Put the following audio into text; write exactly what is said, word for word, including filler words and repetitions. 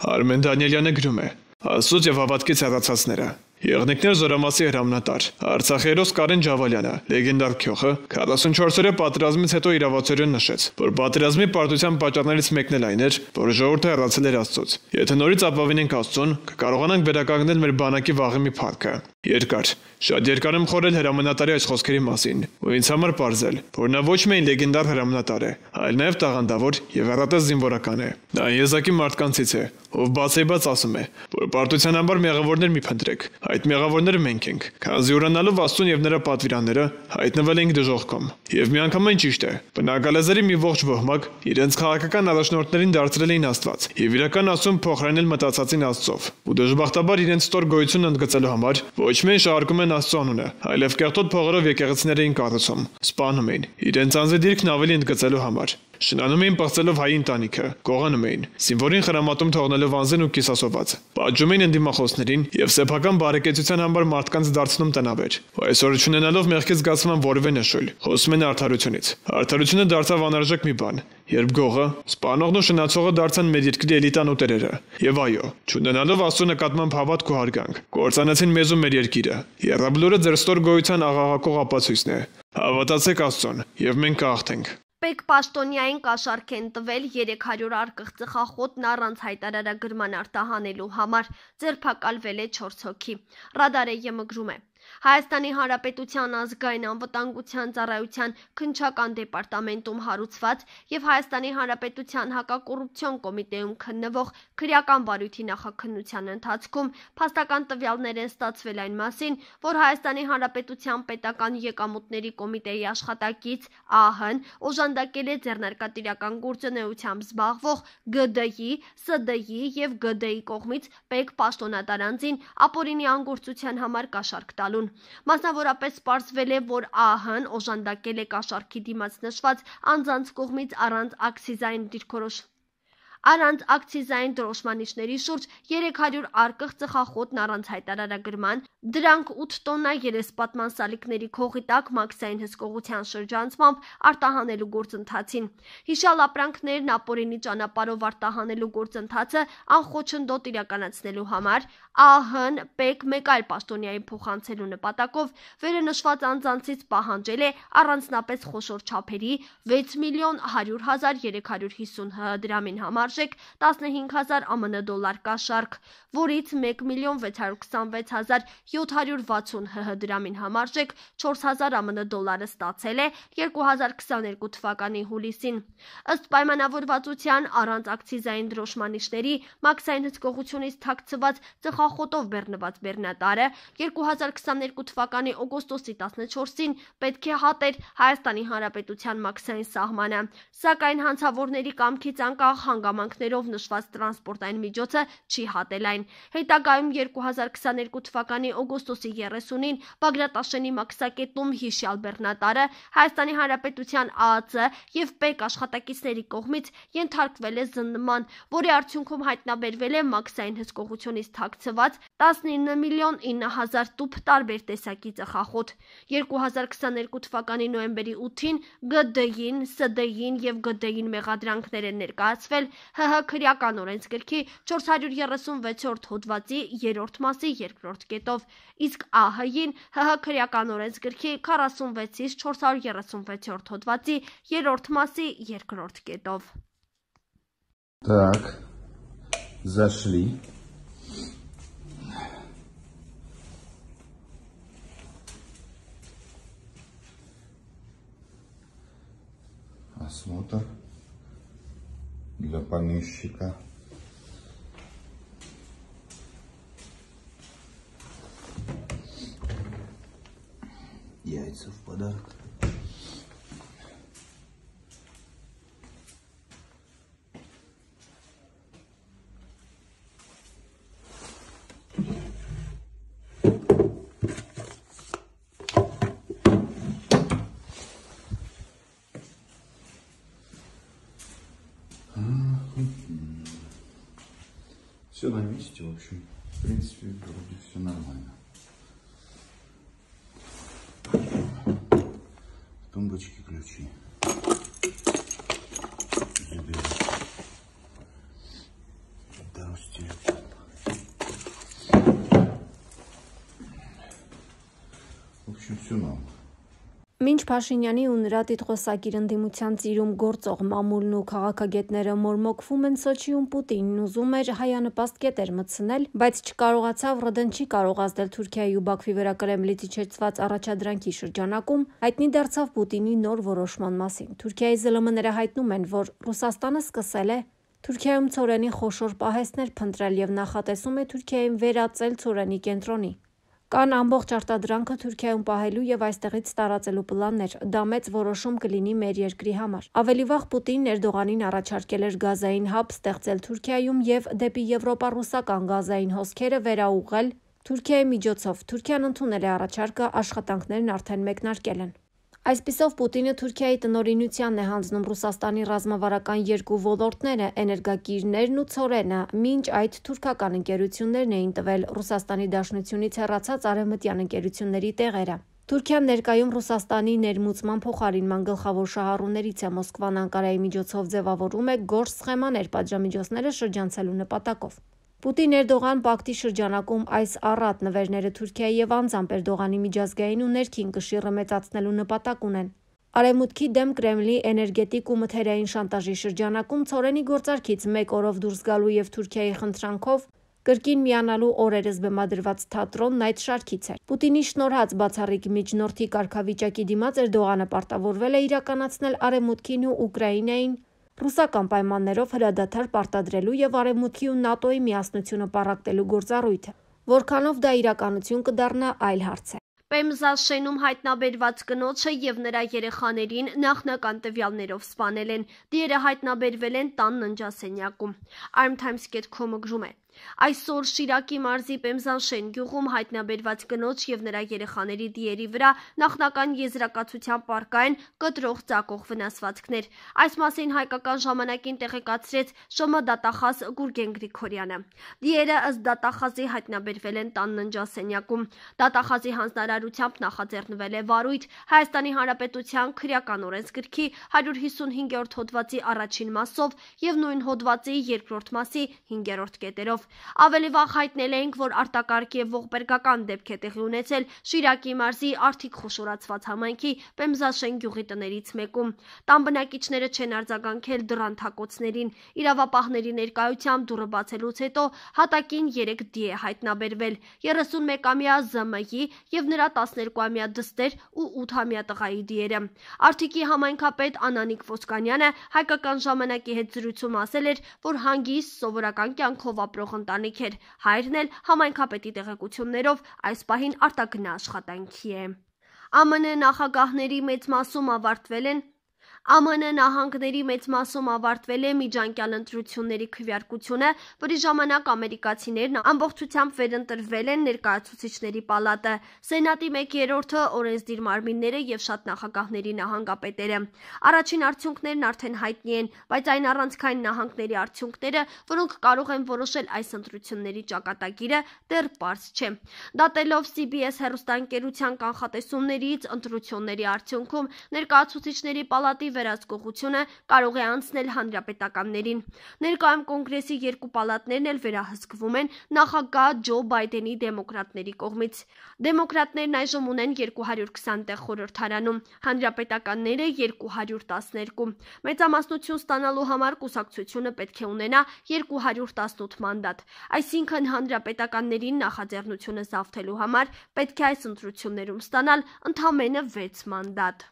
Արմեն Դանիելյանը գրում է. Աստծուց եւ հավատքից հեռացածները։ Եղնիկներ զորամասի հրամանատար Արցախի հերոս Կարեն Ջավալյանը, լեգենդար քյոխը, քառասունչորս պատերազմից հետո իրավացորեն նշեց, որ պատերազմի պարտության պատճառներից մեկն էլ այն էր, որ ժողովուրդը հեռացել էր Աստծուց։ Եթե նորից ապավինենք Աստծուն, կկարողանանք վերականգնել մեր բանակի վաղեմի փառքը։ Երկար, շատ երկար եմ խորել հրամանատարի այս խոսքերի մասին, ու ինձ համար պարզել, որ նա ոչ միայն լեգենդար հրամանատար է, այլ նաև տաղանդավոր եւ հեռատես զինվորական է։ Նա եզակի մարդկանցից է, ով բացեբաց ասում է, որ պարտության համար մեղավորներ մի փնտրեք, այդ մեղավորները մենք ենք, քանզի ուրանալով Աստծուն եւ նրա պատվիրանները հայտնվել ենք դժոխքում։ Եվ միանգամայն ճիշտ է, բնակալեզերի մի ողջ ոհմակ իրենց քաղաքական առաջնորդներին դարձրել էին Աստված եւ իրական Աստծուն փոխարինել մտածածին Աստծով, ու դժբախտաբար իրենց ստոր գոյությունն ընդգծելու համար ոչ միայն շարքում են Աստծո անունը, այլև կեղտոտ փողերով եկեղեցիներ էին կառուցում, սպանում էին, իրենց անձի դիրքն ավելի ընդգծելու համար։ Շնանում էին պղծելով հայ ընտանիքը, կողանում էին, զինվորին խրամատում թողնելով անձին ու կիսասոված, պատժում էին ընդդիմախոսներին եւ սեփական բարեկեցության համար մարդկանց դարձնում տնավեր։ Ու այսօր չունենալով մեղքի զգացման որևէ նշույլ, խոսում են արդարությունից։ Արդարությունը դարձավ անարժեք մի բան, երբ գողը, սպանողն ու շնացողը դարձան մեր երկրի էլիտան ու տերերը։ Եվ այո, չունենալով Աստծո նկատմամբ հավատք ու հարգանք, կործանեցին մեզ ու մեր երկիրը։ Եռաբլուրը ձեր ստոր գոյության աղաղակող ապացույցն է։ Հավատացեք Աստծուն, եւ մենք կհաղթենք։ Պետք պաշտոնյային կաշառք են տվել երեք հարյուր արկղ ծխախոտն առանց հայտարարագրման արտահանելու համար, ձերբակալվել է չորս հոգի։ Ռադարը ԵՄ գրում է. Հայաստանի Հանրապետության ազգային անվտանգության ծառայության քննչական դեպարտամենտում հարուցված եւ Հայաստանի Հանրապետության հակակոռուպցիոն կոմիտեում քննվող քրեական բարույթի նախաքննության ընթացքում փաստական տվյալներ են ստացվել այն մասին, որ Հայաստանի Հանրապետության պետական եկամուտների կոմիտեի աշխատակից ԱՀ-ն օժանդակել է ձեռնարկատիրական գործունեությամբ զբաղվող ԳԴ-ի, ՍԴ-ի եւ ԳԴ-ի կողմից պետք պաշտոնատար անձին ապօրինի անգործության համար կաշառք տալ։ Մասնավորապես պարզվել է, որ ԱՀ-ն օժանդակել է կաշառքի դիմաց նշված անձանց կողմից առանց աքցիզային դիրքորոշ Առանց ակցիզային դրոշմանիչների շուրջ երեք հարյուր արկղ ծխախոտն առանց հայտարարագրման, դրանք ութ տոննա երեսպատման սալիկների քողի տակ մաքսային հսկողության շրջանցմամբ արտահանելու գործընթացին։ Հիշյալ ապրանքներն ապօրինի ճանապարհով արտահանելու գործընթացը անխոչնդոտ իրականացնելու համար ԱՀ-ն պետք մեկ այլ պաշտոնյայի փոխանցելու նպատակով վերնշված անձանցից պահանջել է առանձնապես խոշոր չափերի վեց միլիոն հարյուր հազար երեք հարյուր հիսուն ՀՀ դրամին համար տասնհինգ հազար ԱՄՆ դոլար կաշառք, որից մեկ միլիոն վեց հարյուր քսանվեց հազար յոթ հարյուր վաթսուն ՀՀ դրամին համարժեք չորս հազար ԱՄՆ դոլարը ստացել է երկու հազար քսաներկու թվականի հուլիսին։ Ըստ պայմանավորվածության առանց ակցիզային դրոշմանիչների մաքսային հսկողությունից թաքցված ծխախոտով բեռնված բեռնատարը երկու հազար քսաներկու թվականի օգոստոսի տասնչորսին պետք է հատեր Հայաստանի Հանրապետության մաքսային սահմանը, սակայն հանցավորների կամքից անկախ հանգամանքներով նշված տրանսպորտային միջոցը չի հատել այն։ Հետագայում երկու հազար քսաներկու թվականի օգոստոսի երեսունին Բագրատաշենի մաքսակետում հիշյալ բեռնատարը Հայաստանի Հանրապետության ԱԱԾ եւ ՊԵԿ աշխատակիցների կողմից ենթարկվել է զննման, որի արդյունքում հայտնաբերվել է մաքսային հսկողությունից թաքցված տասնինը միլիոն ինը հազար տուփ տարբեր տեսակի ծխախոտ։ երկու հազար քսաներկու թվականի նոյեմբերի ութին ԳԴ-ին, ՍԴ-ին եւ ԳԴ-ին մեղադրանքներ են ներկայացվել ՀՀ քրեական օրենսգրքի չորս հարյուր երեսունվեցերորդ հոդվածի երրորդ մասի երկրորդ կետով, իսկ ԱՀ-ին ՀՀ քրեական օրենսգրքի քառասունվեցից չորս հարյուր երեսունվեցերորդ հոդվածի երրորդ մասի երկրորդ կետով։ Так, зашли. Осмотр для помещика. Яйца в подарок. Все на месте, в общем, в принципе, вроде все нормально. В тумбочке ключи. Заберем. Здравствуйте. В общем, все нам. Մինչ Փաշինյանի ու նրա տիտղոսակիր ընդդիմության ծիրում գործող մամուլն ու քաղաքագետները մորմոքվում են Սոչիում, Պուտինն ուզում էր հայանպաստ կետեր մտցնել, բայց չկարողացավ ՌԴ-ն չի կարող ազդել Թուրքիայի ու Բաքվի վրա Կրեմլից իջեցված առաջադրանքի շրջանակում, հայտնի դարձավ Պուտինի նոր որոշման մասին։ Թուրքիայի ԶԼՄ-ները հայտնում են, որ Ռուսաստանը սկսել է Թուրքիայում ցորենի խոշոր պահեստներ փնտրել եւ նախատեսում է Թուրքիային վերածել ցորենի կենտրոնի։ Կան ամբողջ արտադրանքը Թուրքիայում պահելու եւ այստեղից տարածելու պլաններ, դա մեծ որոշում կլինի մեր երկրի համար։ Ավելի վաղ Պուտինն Էրդողանին առաջարկել էր գազային հաբ ստեղծել Թուրքիայում եւ դեպի Եվրոպա ռուսական գազային հոսքերը վերաուղղել Թուրքիայի միջոցով։ Թուրքիան ընդունել է առաջարկը, աշխատանքներն արդեն մեկնարկել են։ Այսպիսով Պուտինը Թուրքիայի տնօրինությանն է հանձնում Ռուսաստանի ռազմավարական երկու ոլորտները՝ էներգակիրներն ու ցորենը, մինչ այդ թուրքական ընկերություններն էին տվել Ռուսաստանի Դաշնությունից հեռացած արևմտյան ընկերությունների տեղերը։ Թուրքիան ներկայում Ռուսաստանի ներմուծման փոխարինման գլխավոր շահառուներից է, Մոսկվան Անկարայի միջոցով ձևավորում է գործ սխեմաներ պատժամիջոցները շրջանցելու նպատակով։ Պուտին-Էրդողան պակտի շրջանակում այս առատ նվերները Թուրքիայի եւ անձամբ Էրդողանի միջազգային ու ներքին կշիռը մեծացնելու նպատակ ունեն։ Արևմուտքի դեմ Կրեմլի էներգետիկ ու մթերային շանտաժի շրջանակում ցորենի գործարքից մեկ օրով դուրս գալու եւ Թուրքիայի խնդրանքով կրկին միանալու օրերս բեմադրված թատրոնն այդ շարքից էր։ Պուտինի շնորհած բացառիկ միջնորդի կարգավիճակի դիմաց Էրդողանը պարտավորվել է իրականացնել Արևմուտքին ու Ուկրաինային ռուսական պայմաններով հրադադար պարտադրելու եւ Արևմուտքի ու ՆԱՏՕ-ի միասնությունը պառակտելու գործառույթը։ Որքանով դա իրականություն կդառնա, այլ հարց է։ Պեմզաշենում հայտնաբերված կնոջը եւ նրա երեխաներին նախնական տվյալներով սպանել են։ Դիերը հայտնաբերվել են տան ննջասենյակում։ Armtimes dot com-ը գրում է. Այսօր Շիրակի մարզի Պեմզանշեն գյուղում հայտնաբերված կնոջ եւ նրա երեխաների դիերի վրա նախնական եզրակացության պարկային կտրող ծակող վնասվածքներ։ Այս մասին հայկական ժամանակին տեղեկացրեց ՇՄ դատախազ Գուրգեն Գրիգորյանը։ Դիերը ըստ դատախազի հայտնաբերվել են տան ննջասենյակում։ Դատախազի հանձնարարությամբ նախաձեռնվել է վարույթ Հայաստանի Հանրապետության քրեական օրենսգրքի հարյուր հիսունհինգերորդ հոդվածի առաջին մասով եւ նույն հոդվածի երկրորդ մասի հինգերորդ կետերով։ Ավելի վաղ հայտնել էինք, որ արտակարգ եւ ողբերգական դեպք է տեղի ունեցել Շիրակի մարզի Արթիկ խոշորացված համայնքի Պեմզաշեն գյուղի տներից մեկում։ Տան բնակիչները չեն արձագանքել դռան թակոցներին։ Իրավապահների ներկայությամբ դուռը բացելուց հետո հատակին երեք դի է հայտնաբերվել՝ երեսունմեկամյա Զ Մ Յ-ի եւ նրա տասներկուամյա դստեր ու ութամյա տղայի դիերը։ Արթիկի համայնքապետ Անանիկ Ոսկանյանը հայկական ժամանակի հետ զրույցում ասել էր, որ հանգիստ սովորական կյանքով ապրող ընտանիք էր։ Հայրն էլ համայնքապետի տեղեկություններով այս պահին արտագնա աշխատանքի է։ Ა Մ Ն նախագահների մեծ մասում ավարտվել են Ა Մ Ն նահանգների մեծ մասում ավարտվել է միջանկյալ ընտրությունների քվեարկությունը, որի ժամանակ ամերիկացիներն ամբողջությամբ վերընտրվել են ներկայացուցիչների պալատը, Սենատի մեկ երրորդը, օրենսդիր մարմինները եւ շատ նախագահների նահանգապետերը։ Առաջին արդյունքներն արդեն հայտնի են, բայց այն առանցքային նահանգների արդյունքները, որոնք կարող են որոշել այս ընտրությունների ճակատագիրը, դեռ պարզ չէ։ Դատելով C B S հեռուստաընկերության կանխատեսումներից, ընտրությունների արդյունքում ներկայացուցիչների պալատի վերահսկողությունը կարող է անցնել հանրապետականներին։ Ներկայում կոնգրեսի երկու պալատներն էլ վերահսկվում են նախագահ Ջո Բայդենի դեմոկրատների կողմից։ Դեմոկրատներն այժմ ունեն երկու հարյուր քսան տեղ խորհրդարանում, հանրապետականները երկու հարյուր տասներկու։ Մեծամասնություն ստանալու համար կուսակցությունը պետք է ունենա երկու հարյուր տասնութ մանդատ։ Այսինքն հանրապետականներին նախաձեռնությունը զավթելու համար պետք է այս ընտրություններում ստանալ ընդամենը վեց մանդատ։